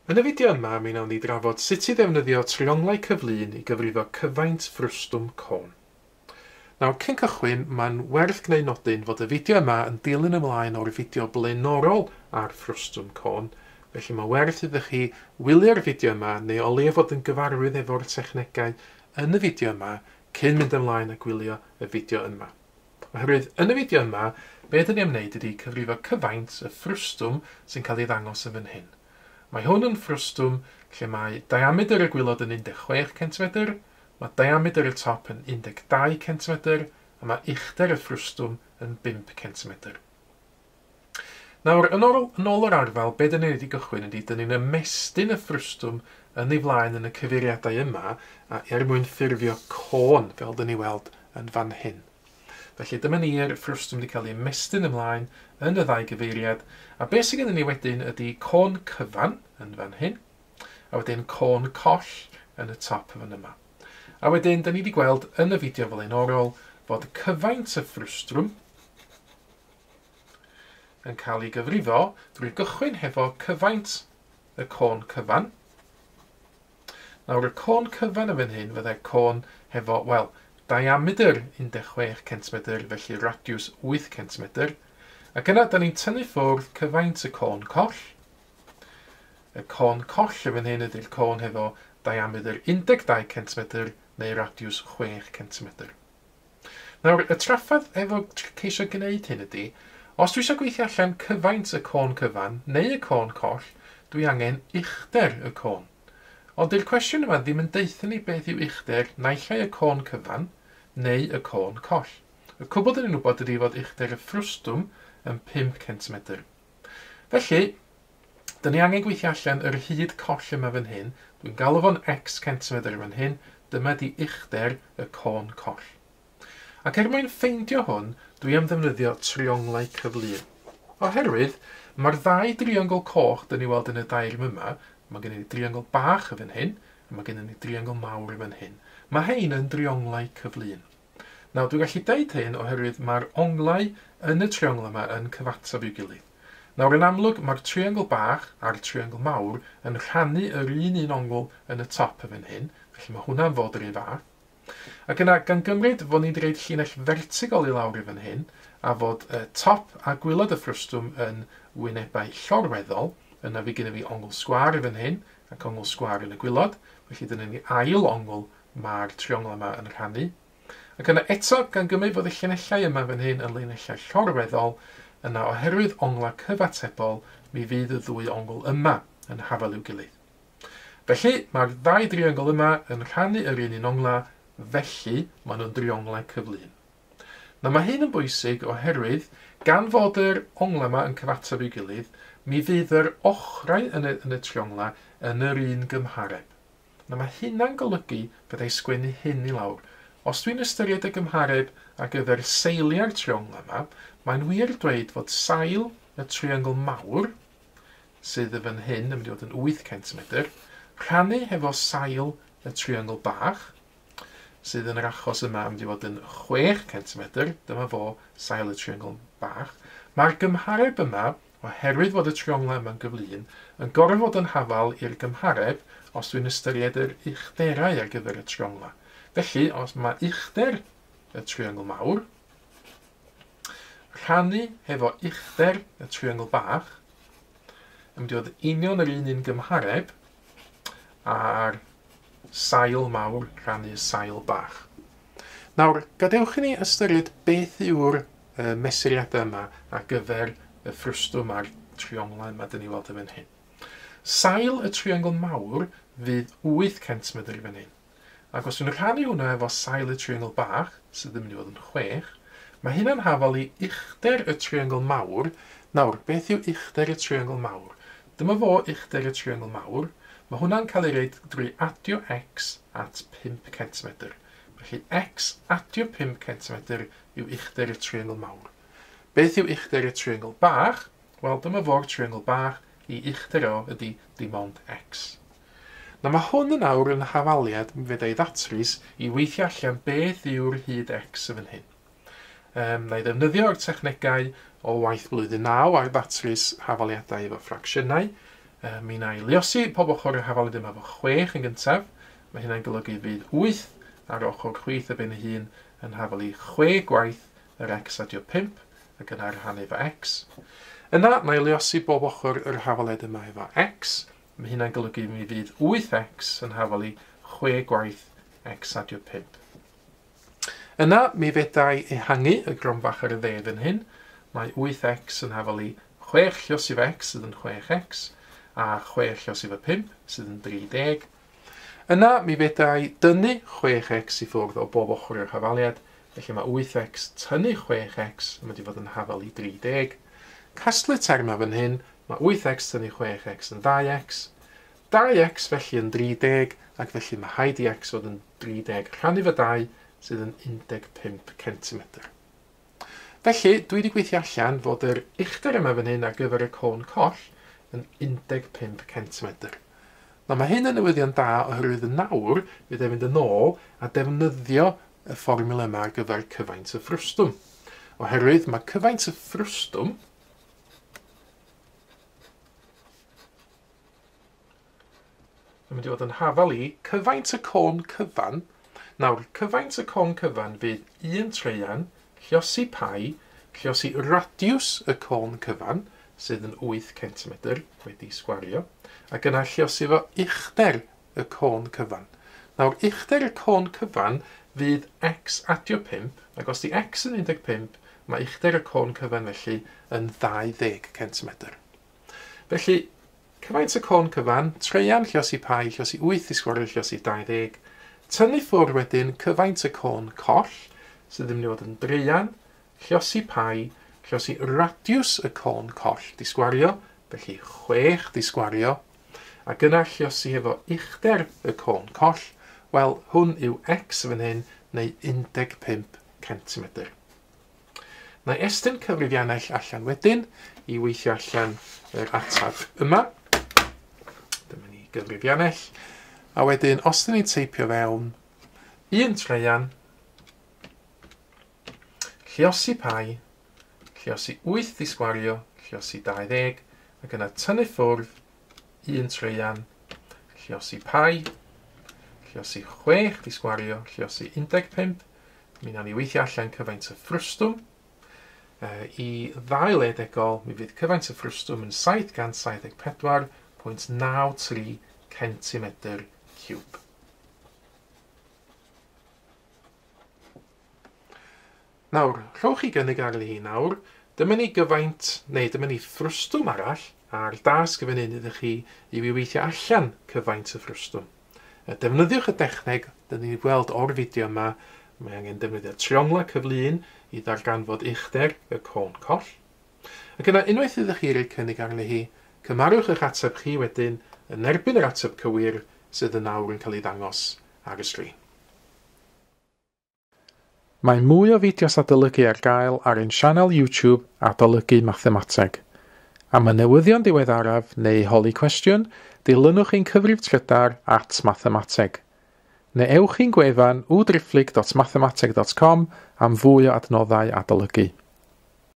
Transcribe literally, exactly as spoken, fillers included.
Yn y fideo yma, mi wnawn ni drafod sut i ddefnyddio trionglau cyflun i gyfrifo cyfaint ffrwstwm côn. Nawr, cyn cychwyn, mae'n werth gwneud nodyn fod y fideo yma yn dilyn ymlaen o'r fideo blaenorol ar ffrwstwm côn, felly mae werth iddo chi wylio'r fideo yma neu o leia fod yn gyfarwydd efo'r technegau yn y fideo yma cyn mynd ymlaen a gwylio y fideo yma. Oherwydd yn y fideo yma, be dyn ni am wneud ydy cyfrifo cyfaint y ffrwstwm sy'n cael ei ddangos yn fan hyn. Mae hwn yn ffrwstwm lle mae diamedr y gwaelod yn un deg chwech centimetr, mae diamedr y top yn un deg dau centimetr, a mae uchder y ffrwstwm yn bump centimetr. Nawr, yn ôl, yn ôl yr arfal, be dyn ni wedi gychwyn ydy, dyn ni'n ymestyn y ffrwstwm yn ei flaen yn y cyfeiriadau yma, a er mwyn ffurfio côn, fel dyn ni weld yn fan hyn. Felly dyma ni'r ffrwstwm wedi cael ei ymestyn ymlaen yn y ddau gyfeiriad, a beth sydd gennym ni wedyn ydy côn cyfan yn fan hyn, a wedyn côn coll yn y top fan yma. A wedyn, da ni wedi gweld yn y fideo flaenorol fod cyfaint y ffrwstwm yn cael ei gyfrifo drwy gychwyn hefo cyfaint y côn cyfan. Nawr, y côn cyfan yn fan hyn fyddai côn hefo, wel, diamedr un deg chwech centimetr, felly radiws wyth centimetr. Ac yna, da ni'n tynnu ffwrdd cyfaint y côn coll. Y côn coll yn fan hyn ydy'r côn hefo diamedr un deg dau centimetr neu radiws chwech centimetr. Nawr, y trafferth efo ceisio gwneud hyn ydy, os dwi eisiau gweithio allan cyfaint y côn cyfan neu y côn coll, dwi angen uchder y côn. Ond dyw'r cwestiwn yma ddim yn deutha ni beth yw uchder naill ai y côn cyfan neu y côn coll. Y cwbl dyn ni'n wybod ydy fod uchder y ffrwstwm yn pump centimetr. Felly, dyn ni angen gweithio allan yr hyd coll yma fan hyn. Dwi'n galw fo'n x centimetr fan hyn. Dyma di uchder y côn coll. Ac er mwyn ffeindio hwn, dwi am ddefnyddio trionglau cyflun. Oherwydd, mae'r ddau driongl coch dyn ni weld yn y dair yma, mae gennym ni driongl bach yn fan hyn, a mae gennym ni driongl mawr yn fan hyn. Mae hein yn drionglau cyflun. Nawr, dwi'n gallu deud hyn oherwydd mae'r onglau yn y triongl yma yn cyfateb i'w gilydd. Nawr, yn amlwg, mae'r triongl bach a'r triongl mawr yn rhannu yr un un ongl yn y top yn fan hyn, felly mae hwnna'n fod yr un fath. Ac yna, gan gymryd fod ni'n dweud llinell fertigol i lawr i fan hyn, a fod y top a gwaelod y ffrwstwm yn wynebau llorweddol, yna fi gennym fi ongl sgwâr i fan hyn, ac ongl sgwâr yn y gwaelod, felly dyna ni ail ongl mae'r triongl yma yn rhannu. Ac yna eto, gan gymryd fod y llinellau yma fan hyn yn linellau llorweddol, yna oherwydd onglau cyfatebol, mi fydd y ddwy ongl yma yn hafal i'w gilydd. Felly, mae'r ddau driongl yma yn rhannu yr un un ongla, felly maen nhw'n drionglau cyflun. Nawr, mae hyn yn bwysig oherwydd, gan fod yr ongla yma yn cyfateb i'w gilydd, mi fydd yr ochrau yn y, yn y triongla yn yr un gymhareb. Nawr, mae hynna'n golygu byddai sgwennu hyn i lawr. Os dwi'n ystyried y gymhareb ar gyfer seiliau'r triongla yma, mae'n wir dweud fod sail y triongl mawr, sydd yn fan hyn yn mynd i fod yn wyth centimetr, rhannu hefo sail y triongl bach, sydd yn yr achos yma yn mynd i fod yn chwech centimetr, dyma fo sail y triongl bach. Mae'r gymhareb yma, oherwydd fod y trionglau yma'n gyflun, yn gorfod fod yn hafal i'r gymhareb os dwi'n ystyried yr uchderau ar gyfer y trionglau. Felly, os mae uchder y triongl mawr, rhannu hefo uchder y triongl bach, yn mynd i fod union yr un un gymhareb a'r sail mawr rhannu sail bach. Nawr, gadewch i ni ystyried beth yw'r uh, mesuriadau yma ar gyfer y ffrwstwm a'r trionglau yma dyn ni weld yn fan hyn. Sail y triongl mawr fydd wyth centimetr i fan hyn. Ac os dwi'n rhannu hwnna efo sail y triongl bach, sydd yn mynd i fod yn chwech, mae hynna'n hafal i uchder y triongl mawr. Nawr, beth yw uchder y triongl mawr? Dyma fo uchder y triongl mawr. Mae hwnna'n cael ei reid drwy adio x at pump centimetr. Felly x adio pump centimetr yw uchder y triongl mawr. Beth yw uchder y triongl bach? Wel, dyma fo'r triongl bach, i uchder o ydy dim ond x. Nawr, mae hwn yn awr yn hafaliad mi fedra i ddatrys i weithio allan beth yw'r hyd x yn fan hyn. Um, na i ddefnyddio'r technegau o waith blwyddyn naw ar ddatrys hafaliadau efo ffracsiynau. Uh, mi wna i luosi pob ochr yr hafaliad yma efo chwech yn gyntaf. Mae hynna'n golygu fydd wyth ar ochr chwith y ben ei hun yn hafal i chwe gwaith yr x adio pump ac yna rhannu efo x. Yna, na i luosi bob ochr yr hafaliad yma efo x. Mae hynna'n golygu mi fydd wyth x yn hafal i chwe gwaith x adio pump. Yna, mi fedrai ehangu y gronfach ar y dde fan hyn. Mae wyth x yn hafal i chwech lluosi efo x sydd yn chwech x, a chwech lluosi efo pump sydd yn dri deg. Yna, mi fedrai dynnu chwech x i ffwrdd o bob ochr i'r hafaliad, felly mae wyth x tynnu chwech x yn mynd i fod yn hafal i dri deg. Casglu termau fan hyn, mae wyth x tynnu chwech x yn dau x, dau x felly yn dri deg, ac felly mae haid i x fod yn dri deg rhannu fo dau sydd yn un deg pump centimetr. Felly, dwi wedi gweithio allan fod yr uchder yma fan hyn ar gyfer y côn coll yn un deg pump centimetr. Nawr mae hyn yn newyddion da oherwydd yn nawr fydd e'n mynd yn ôl a defnyddio y fformiwla yma ar gyfer cyfaint y ffrwstwm. Oherwydd mae cyfaint y ffrwstwm yn mynd i fod yn hafal i cyfaint y côn cyfan. Nawr, cyfaint y côn cyfan fydd un traean lluosi pi, lluosi radiws y côn cyfan, sydd yn wyth centimetr wedi sgwario, ac yna lluosi fo uchder y côn cyfan. Nawr, uchder y côn cyfan fydd x adio pump, ac os di x yn un deg pump, mae uchder y côn cyfan felly yn ddau ddeg centimetr. Felly, cyfaint y côn cyfan, traean lluosi pi, lluosi wyth i sgwario, lluosi dau ddeg. Tynnu ffwrdd wedyn cyfaint y côn coll, sydd yn mynd i fod yn draean, lluosi pi, lluosi radiws y côn coll di sgwario, felly chwech di sgwario, ac yna lluosi efo uchder y côn coll, wel, hwn yw x fan hyn, neu un deg pump centimetr. Na i estyn cyfrifiannell allan wedyn i weithio allan yr ateb yma. Dyma ni gyfrifiannell. A wedyn, os dyn ni'n teipio fewn un traean, lluosi pi, lluosi wyth i sgwario, lluosi dau ddeg, ac yna tynnu ffwrdd un traean, lluosi pi, lluosi chwech di sgwario, lluosi un deg pump. Mi wnawn ni weithio allan cyfaint y ffrwstwm. Uh, I ddau le degol, mi fydd cyfaint y ffrwstwm yn saith gant saith deg pedwar pwynt naw tri centimetr ciwb. Nawr, rhowch chi gynnig ar hi nawr. Dyma ni gyfaint, neu dyma ni ffrwstwm arall, a'r dasg fan hyn ydych chi i fi weithio allan cyfaint y ffrwstwm. Defnyddiwch y dechneg, dyn ni'n gweld o'r fideo yma, mae angen defnyddio triongla cyflun i ddarganfod uchder y côn coll. Ac yna, unwaith ydych chi roi cynnig arni hi, cymarwch eich ateb chi wedyn yn erbyn yr ateb cywir sydd yn awr yn cael ei ddangos ar y sgrin. Mae mwy o fideos adolygu ar gael ar ein sianel YouTube Adolygu Mathemateg. Am y newyddion diweddaraf neu holi cwestiwn, dilynwch ein cyfrif trydar at mathemateg. Neu ewch i'n gwefan w driphlyg dot mathemateg dot com am fwy o adnoddau adolygu.